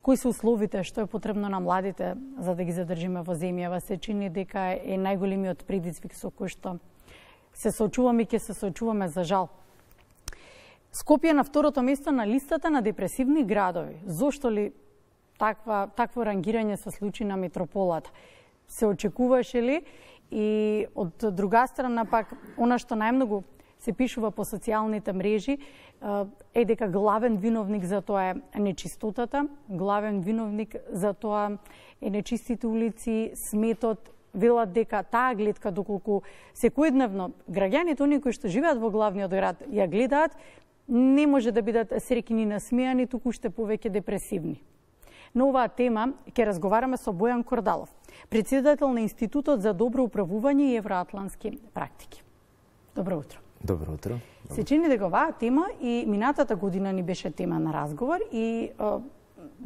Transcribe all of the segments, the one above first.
кои се условите, што е потребно на младите за да ги задржиме во земјава, се чини дека е најголемиот предизвик со кој што се соочуваме и ќе се соочуваме за жал. Скопје на второто место на листата на депресивни градови. Зошто ли такво рангирање се случи на метрополата? Се очекуваше ли? И од друга страна пак, она што најмногу се пишува по социјалните мрежи е дека главен виновник за тоа е нечистотата, главен виновник за тоа е нечистите улици, сметот. Велат дека таа гледка, доколку секојдневно граѓаните, оние кои што живеат во главниот град, ја гледаат, не може да бидат среќни и насмејани, туку уште повеќе депресивни. На оваа тема ќе разговараме со Бојан Кордалов, претседател на Институтот за добро управување и евроатлантски практики. Добро утро. Добро утро. Се чини дека оваа тема и минатата година ни беше тема на разговор и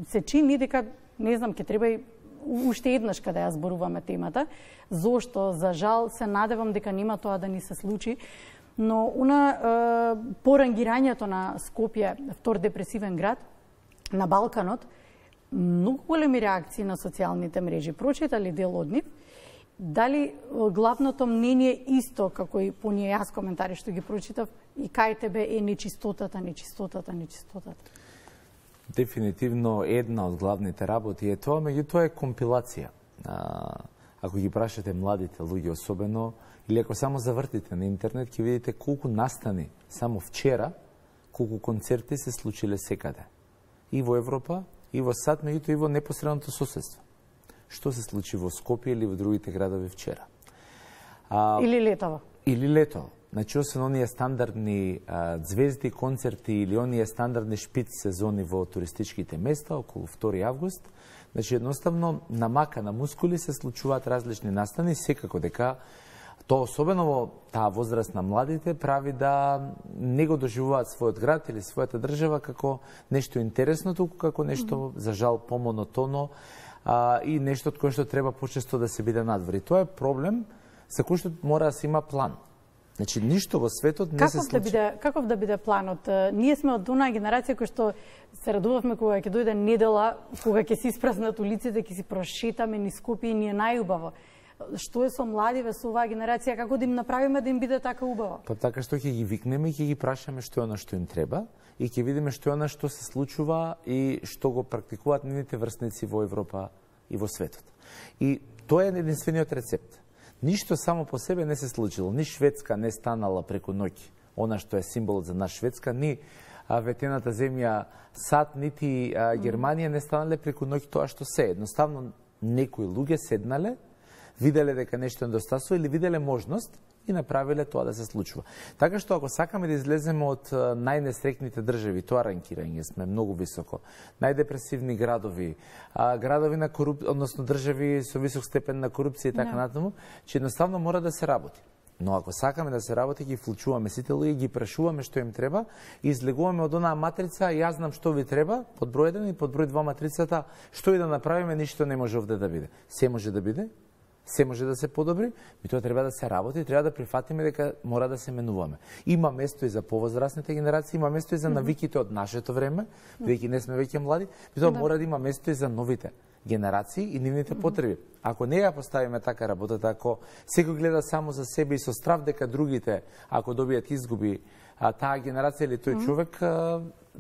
се чини дека, не знам, ќе треба и уште еднаш каде ја зборуваме темата, зошто, за жал, се надевам дека нема тоа да ни се случи, но по рангирањето на Скопје, втор депресивен град, на Балканот, многу големи реакции на социјалните мрежи. Прочитали дел од нив? Дали главното мнение исто, како и по ние јас коментари што ги прочитав, и кај тебе е нечистотата? Дефинитивно една од главните работи е тоа, меѓутоа е компилација. Ако ги прашате младите луѓе особено, или ако само завртите на интернет, ќе видите колку настани само вчера, колку концерти се случиле секаде. И во Европа, и во САД, меѓутоа и во непосредното соседство. Што се случи во Скопје или во другите градови вчера? Или летово. Или летово. Значи, освен оние стандардни звезди, концерти или оние стандардни шпиц сезони во туристичките места, околу 2 август, значи, едноставно, на мака на мускули се случуваат различни настани, секако дека тоа особено во таа возраст на младите прави да не го доживуваат својот град или својата држава како нешто интересно, туку како нешто, за жал, помонотоно и нешто од кое што треба почесто да се биде надвор. И тоа е проблем за кој што мора да се има план. Значи, ништо во светот не се случи. Каков да биде планот? Ние сме од онаа генерација која што се радувавме кога ќе дојде недела, кога ќе се испразнат улиците, ќе си прошетаме низ Скопје и ни е најубаво. Што е со младиве, со оваа генерација, како да им направиме да им биде така убаво? Па така што ќе ги викнеме и ќе ги прашаме што е она што им треба и ќе видиме што е она што се случува и што го практикуваат нивните врсници во Европа и во светот. И тоа е единствениот рецепт. Ништо само по себе не се случило. Ни Шведска не станала преку ноќ, она што е символот за нас Шведска, ни ветената земја САД, нити Германија не станале преку ноќ тоа што се. Едноставно, некои луѓе седнале, виделе дека нешто недостасува или виделе можност и направиле тоа да се случува. Така што ако сакаме да излеземе од најнесрекните држави, тоа ранкирање сме многу високо. Најдепресивни градови, градови на односно држави со висок степен на корупција и така натаму, че едноставно мора да се работи. Но ако сакаме да се работи, ги вклучуваме сите луѓе, ги прашуваме што им треба и излегуваме од онаа матрица, јас знам што ви треба, под број 1 и под број 2 матрицата, што и да направиме, ништо не може овде да биде. Се може да биде, се може да се подобри, и тоа треба да се работи, треба да прифатиме дека мора да се менуваме. Има место и за повозрастните генерации, има место и за навиките од нашето време, бидејќи не сме веќе млади, и тоа мора да има место и за новите генерации и нивните потреби. Ако не ја поставиме така работата, ако секој гледа само за себе и со страв дека другите, ако добијат изгуби, таа генерација или тој човек,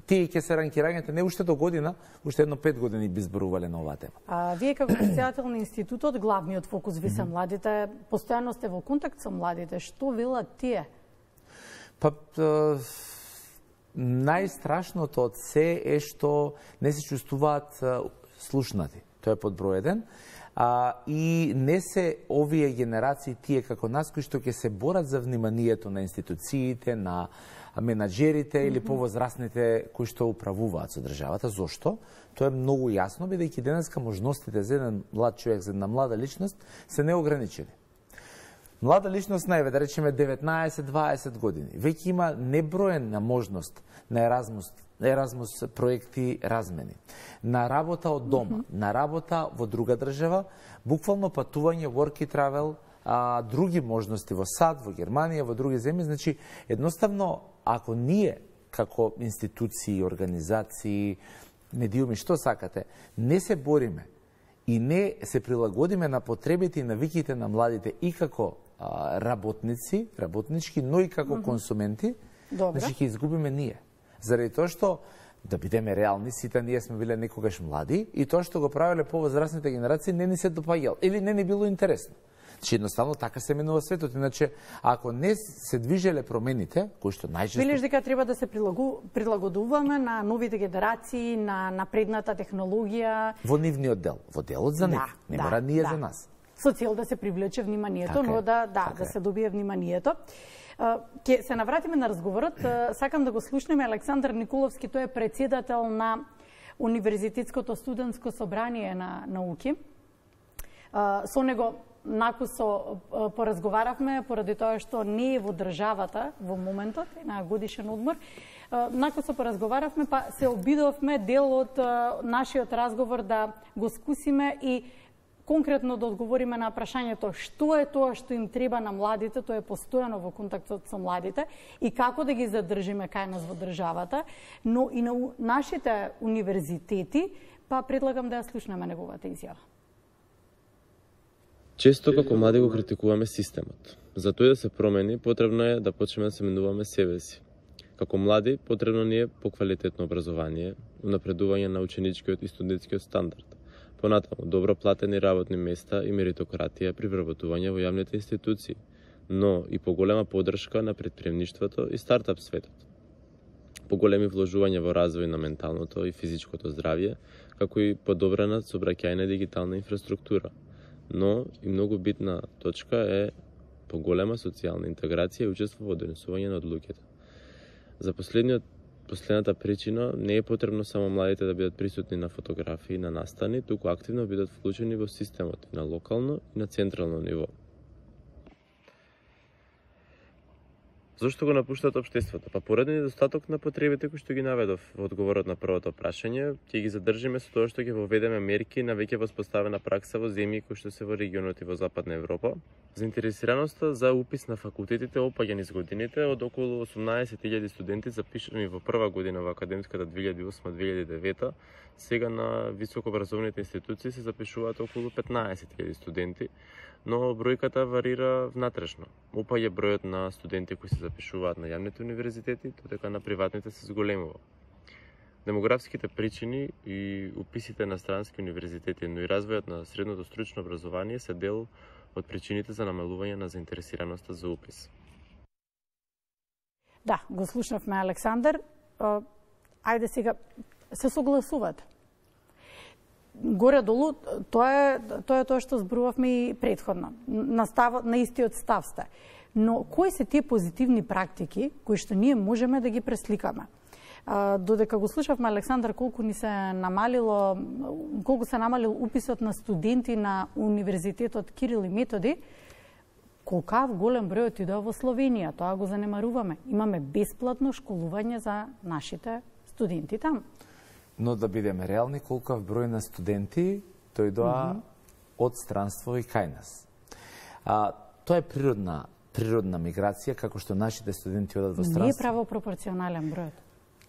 тие ќе се ранкирањата не уште до година, уште едно 5 години би зборувале на оваа тема. Вие како претседател на институтот, главниот фокус ви се младите, постојано сте во контакт со младите. Што велат тие? Па најстрашното од се е што не се чувствуваат слушнати. Тоа е под број 1. И не се овие генерации, тие како нас, кои што ќе се борат за вниманието на институциите, на менаџерите или повозрастните кои што управуваат со државата. Зошто? Тоа е многу јасно, бидејќи денеска можностите за еден млад човек, за една млада личност се неограничени. Млада личност најве, да речеме 19-20 години, веќе има неброена можност на Еразмус проекти размени, на работа од дома, на работа во друга држава, буквално патување, work and travel, други можности во САД, во Германија, во други земји. Значи, едноставно, ако ние, како институции, организации, медиуми, што сакате, не се бориме и не се прилагодиме на потребите и навиките на младите и како работници, работнички, но и како консументи, значи ќе изгубиме ние. Заради тоа што, да бидеме реални, сите ние сме биле некогаш млади и тоа што го правеле повозрастните генерации не ни се допаѓало или не ни било интересно. Значи едноставно така се менува светот, иначе ако не се движеле промените, кои што најчесто Велиш дека треба да се прилагодуваме на новите генерации, на напредната технологија во нивниот дел, во делот за нив, не мора ние за нас. Со цел да се привлече вниманието, но да се добие вниманието. Ќе се навратиме на разговорот. Сакам да го слушнеме Александар Николовски, тој е председател на Универзитетското студентско собрание на науки. Со него накусо поразговаравме, поради тоа што не е во државата во моментот, на годишен одмор. Накусо поразговаравме, па се обидовме дел од нашиот разговор да го скусиме и конкретно да одговориме на прашањето што е тоа што им треба на младите, тоа е постојано во контактот со младите, и како да ги задржиме кај нас во државата, но и на нашите универзитети, па предлагам да ја слушнеме неговата изјава. Често како млади го критикуваме системот. За тој да се промени, потребно е да почнеме да се менуваме себе си. Како млади, потребно ни е поквалитетно образование, унапредување на ученичкиот и студентскиот стандард. Понатаму, добро платени работни места и меритократија при вработување во јавните институции, но и поголема поддршка на претприемништвото и стартап светот. Поголеми вложување во развој на менталното и физичкото здравје, како и подобрена сообраќајна дигитална инфраструктура. Но и многу битна точка е поголема социјална интеграција и учество во донесување на одлуките. За последната причина не е потребно само младите да бидат присутни на фотографии, на настани, туку активно бидат вклучени во системот на локално и на централно ниво. Зошто го напуштат општеството? Па поради недостаток на потребите кои што ги наведов во одговорот на првото прашање, ќе ги задржиме со тоа што ќе воведеме мерки на веќе воспоставена пракса во земји кои што се во регионот и во Западна Европа. Заинтересираноста за упис на факултетите опаѓа низ годините, од околу 18.000 студенти запишани во прва година во академската 2008-2009, сега на високообразовните институции се запишуваат околу 15.000 студенти, но бројката варира внатрешно. Опаѓа бројот на студенти кои се запишуваат на јавните универзитети, додека на приватните се зголемува. Демографските причини и уписите на странски универзитети, но и развојот на средното стручно образование се дел од причините за намалување на заинтересираноста за упис. Да, го слушнавме Александар. Ајде сега, се согласувате. Горе-долу, тоа е тоа што зборувавме и претходно. На истиот став сте. Но кои се тие позитивни практики кои што ние можеме да ги пресликаме? Додека го слушавме Александар колку се намалил уписот на студенти на Универзитетот Кирил и Методи, колкав голем број отидоа во Словенија, тоа го занемаруваме. Имаме бесплатно школување за нашите студенти таму. Но да бидеме реални, колкав број на студенти дојдоа од странство и кај нас. Тоа е природна миграција, како што нашите студенти одат во странство. Не е правопропорционален бројот.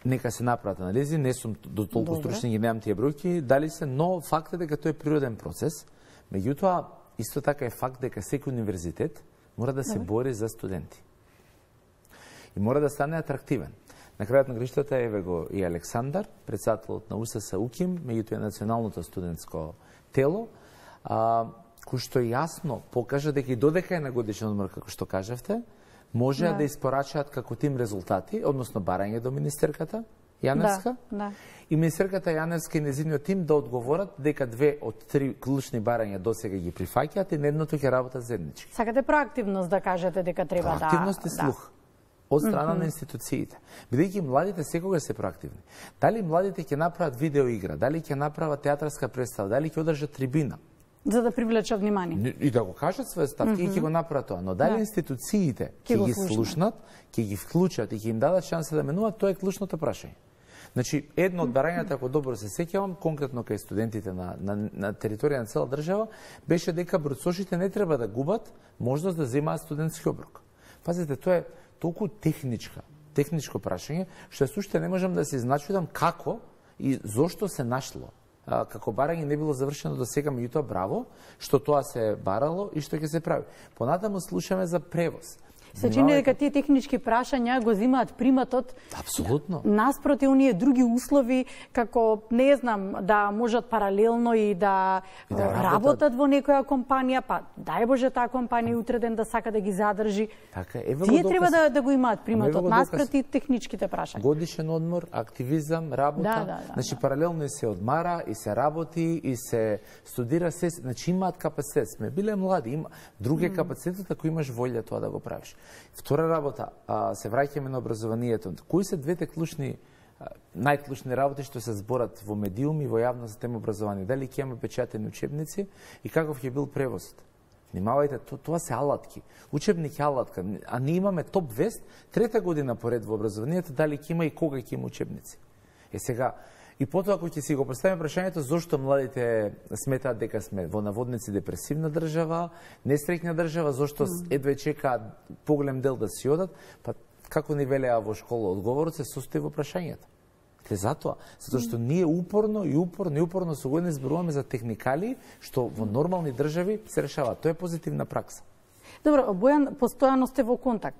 Нека се направат анализи, не сум до толку стручни, ги немам тие бројки, дали се, но факт е дека тоа е природен процес. Меѓутоа, исто така е факт дека секој универзитет мора да се бори за студенти. И мора да стане атрактивен. На крајот на гриштата еве го и Александар, председателот на УСС УКИМ, меѓутоа националното студентско тело, кој што јасно покажа дека и додека е на годишен одмор, како што кажавте, може да испорачаат како тим резултати, односно барање до министерката Јаневска, и министерката Јаневска и незиниот тим да одговорат дека 2 од 3 клучни барања досега ги прифаќаат и едното ќе работат заеднички. Сакате проактивност да кажете дека треба да... Проактивност и слух од страна на институциите. Бидејќи младите секогаш се проактивни. Дали младите ќе направат видеоигра, дали ќе направат театарска представа, дали ќе одржат трибина, за да привлечат внимание. И да го кажат своје ставки, и ќе го направат тоа. Но дали институциите ќе ги слушнат, ќе ги вклучат и ќе им дадат шанса да менуваат, тоа е клучното прашање. Значи, едно од барањата, ако добро се сеќавам, конкретно кај студентите на територија на цела држава, беше дека бруцошите не треба да губат можност да земаат студентски оброк. Пазите, тоа е толку техничко прашање, што суште не можам да се изначудам како и зошто се нашло. Како барање не било завршено до сега, меѓутоа браво, што тоа се барало и што ќе се прави. Понатаму слушаме за превоз. Се чини дека тие технички прашања го земаат приматот. Апсолутно. Наспроти оние други услови, како не знам, да можат паралелно и да работат во некоја компанија, па дај Боже таа компанија утре ден да сака да ги задржи. Така, тие треба да го имаат приматот наспроти техничките прашања. Годишен одмор, активизам, работа, значи паралелно и се одмара, и се работи, и се студира, се, значи имаат капацитет. Сме биле млади, други капацитет ако имаш волја тоа да го правиш. Втора работа, се враќаме на образованието. Кои се двете клучни, најклучни работи што се зборат во медиуми, во јавност за тема образование? Дали ќе имаме печатени учебници и каков ќе бил превозот? Внимавајте, тоа се алатки. Учебник е алатка, а ние имаме топ вест, 3-та година поред во образованието, дали ќе има и кога ќе има учебници. Сега, и потоа ако ќе си го поставиме прашањето зошто младите сметаат дека сме во наводници депресивна држава, несреќна држава, зошто едве чекаат поголем дел да си одат, па како ни велеа во школа, одговорот се состои во прашањето. Затоа што ние упорно со години зборуваме за техникали што во нормални држави се решаваат. Тоа е позитивна пракса. Добро, Бојан, постојано сте во контакт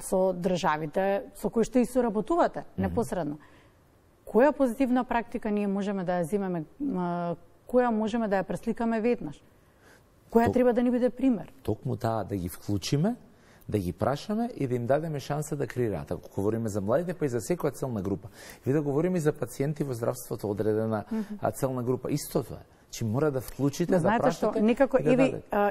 со државите со кои што и соработувате непосредно. Која позитивна практика ние можеме да ја земеме, која можеме да ја пресликаме веднаш? Која треба да ни биде пример? Токму таа да ги вклучиме, да ги прашаме и да им дадеме шанса да креираат. Ако говориме за младите, па и за секоја целна група. И да говориме и за пациенти во здравството, одредена целна група. Исто тоа. Че мора да вклучите, да прашате. Знаете што, некако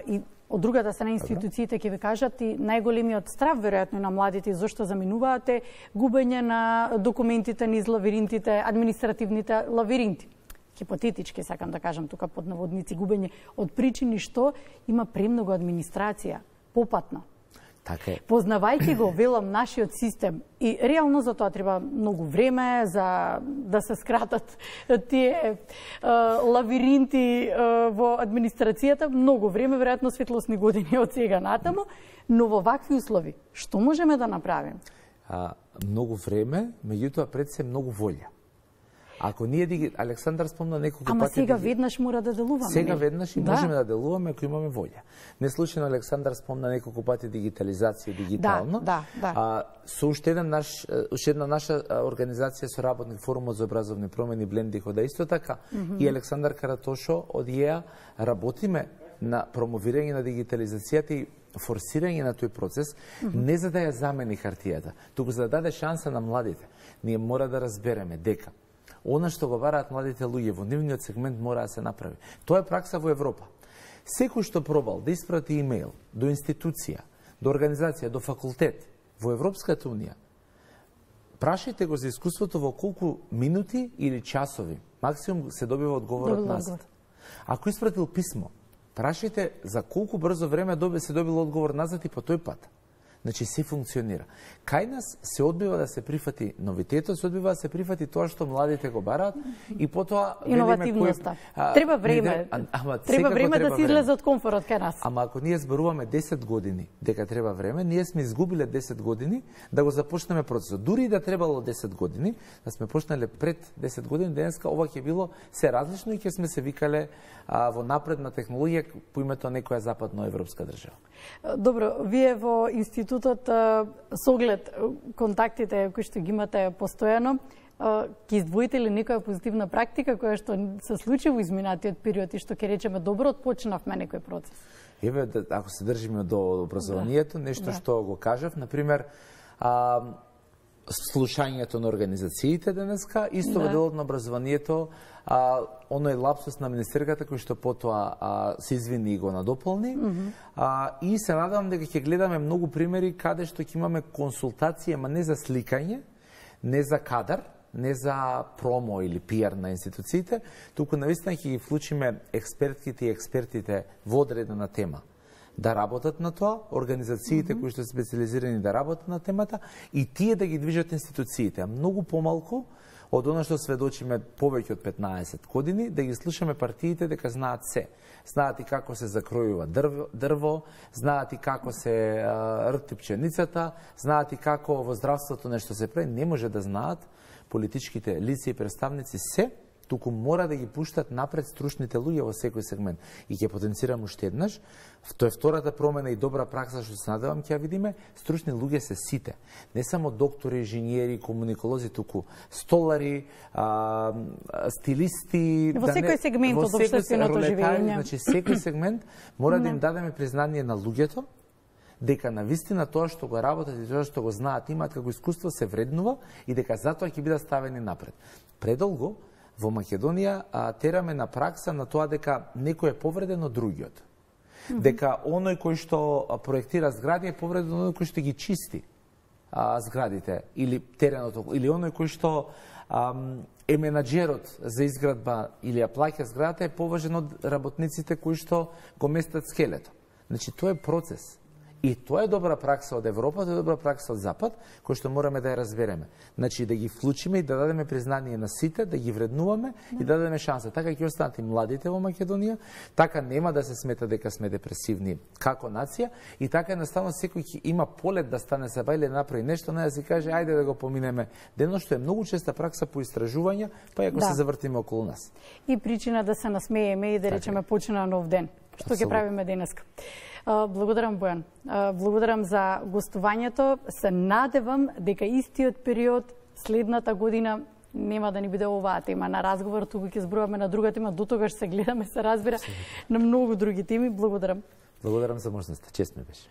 и од другата страна институциите ќе ви кажат и најголемиот страв веројатно на младите зошто заминуваат е губење на документите низ лавиринтите, административните лавиринти. Хипотетички сакам да кажам тука под наводници губење од причини што има премногу администрација попатно. Така е. Познавајќи го, велам, нашиот систем и реално за тоа треба многу време за да се скратат тие лавиринти во администрацијата, многу време, веројатно светлосни години од сега натаму, но во вакви услови, што можеме да направиме? Многу време, меѓутоа пред се многу волја. Ако ние Александар спомна неколку пати. Ама сега веднаш мора да делуваме. Сега веднаш и можеме да делуваме ако имаме волја. Неслучајно Александар спомна неколку пати дигитализација, дигитално. Со уште една наша организација со работник форумот за образовни промени Бленди хода исто така и Александар Каратошо од ИЕА работиме на промовирање на дигитализацијата и форсирање на тој процес, не за да ја замени хартијата, туку за да даде шанса на младите. Ние мора да разбереме дека она што го бараат младите луѓе во нивниот сегмент мора да се направи. Тоа е пракса во Европа. Секој што пробал да испрати имејл до институција, до организација, до факултет во Европската унија, прашајте го за искуството во колку минути или часови максимум се добива одговорот назад. Ако испратил писмо, прашајте за колку брзо време се добил одговор назад и по тој пат. Значи, се функционира. Кај нас се одбива да се прифати новитетот, се одбива да се прифати тоа што младите го бараат и потоа иновативноста. Треба време. Треба време да се излезе од комфорот кај нас. Ама ако ние зборуваме 10 години дека треба време, ние сме изгубиле 10 години да го започнеме процесот. Дури и да требало 10 години, да сме почнале пред 10 години, денеска ова ќе било се различно и ќе сме се викале во напредна технологија по името на некоја западноевропска држава. Добро, вие во институтот со оглед контактите кои што ги имате постојано, ќе издвоите ли некоја позитивна практика која што се случи во изминатиот период и што ќе речеме добро отпочнавме некој процес? Еве, ако се држиме до образованието, нешто што го кажав, например, слушањето на организациите денеска, исто во делот на образованието, оној лапсус на министерката кој што потоа се извини и го надополни. И се надевам дека ќе гледаме многу примери каде што ќе имаме консултација, ама не за сликање, не за кадар, не за промо или пиар на институциите, туку навистина ќе ги вклучиме експертките и експертите во одредена тема да работат на тоа, организациите кои што се специализирани да работат на темата и тие да ги движат институциите, а многу помалку од она што сведочиме повеќе од 15 години, да ги слушаме партиите дека знаат се. Знаат и како се закројува дрво, знаат и како се рти пченицата, знаат и како во здравството нешто се прави, не може да знаат политичките лица и представници се, туку мора да ги пуштат напред стручните луѓе во секој сегмент. И ќе потенцирам уште еднаш, тоа е втората промена и добра пракса што се надевам ќе ја видиме, стручни луѓе се сите. Не само доктори, инженери, комуниколози, туку столари, стилисти, во секој сегмент од општественото живење. Значи секој сегмент мора да им дадеме признание на луѓето, дека навистина тоа што го работат и тоа што го знаат, имаат како искуство, се вреднува и дека затоа ќе бидат ставени напред. Предолго во Македонија тераме на пракса на тоа дека некој е повреден од другиот. Дека оној кој што проектира згради е повреден од оној кој што ги чисти зградите или теренот, или оној кој што е менаџерот за изградба или ја плаќа зградата е поважен од работниците кои што го местат скелето. Значи тоа е процес. И тоа е добра пракса од Европа, тоа е добра пракса од Запад, кој што мораме да ја разбереме. Значи да ги вклучиме и да дадеме признание на сите, да ги вреднуваме и да дадеме шанса. Така ќе останат и младите во Македонија, така нема да се смета дека сме депресивни како нација и така едноставно секој ќе има полет да стане саба или да направи нешто, не да си каже ајде да го поминеме дено, што е многу честа пракса по истражувања, па и ако се завртиме околу нас. И причина да се насмееме и да речеме почина нов ден, што ќе правиме денеска. Благодарам, Бојан. Благодарам за гостувањето. Се надевам дека истиот период следната година нема да ни биде оваа тема на разговор, туку ќе зборуваме на друга тема, дотогаш се гледаме, се разбира на многу други теми. Благодарам. Благодарам за можноста. Чест ми беше.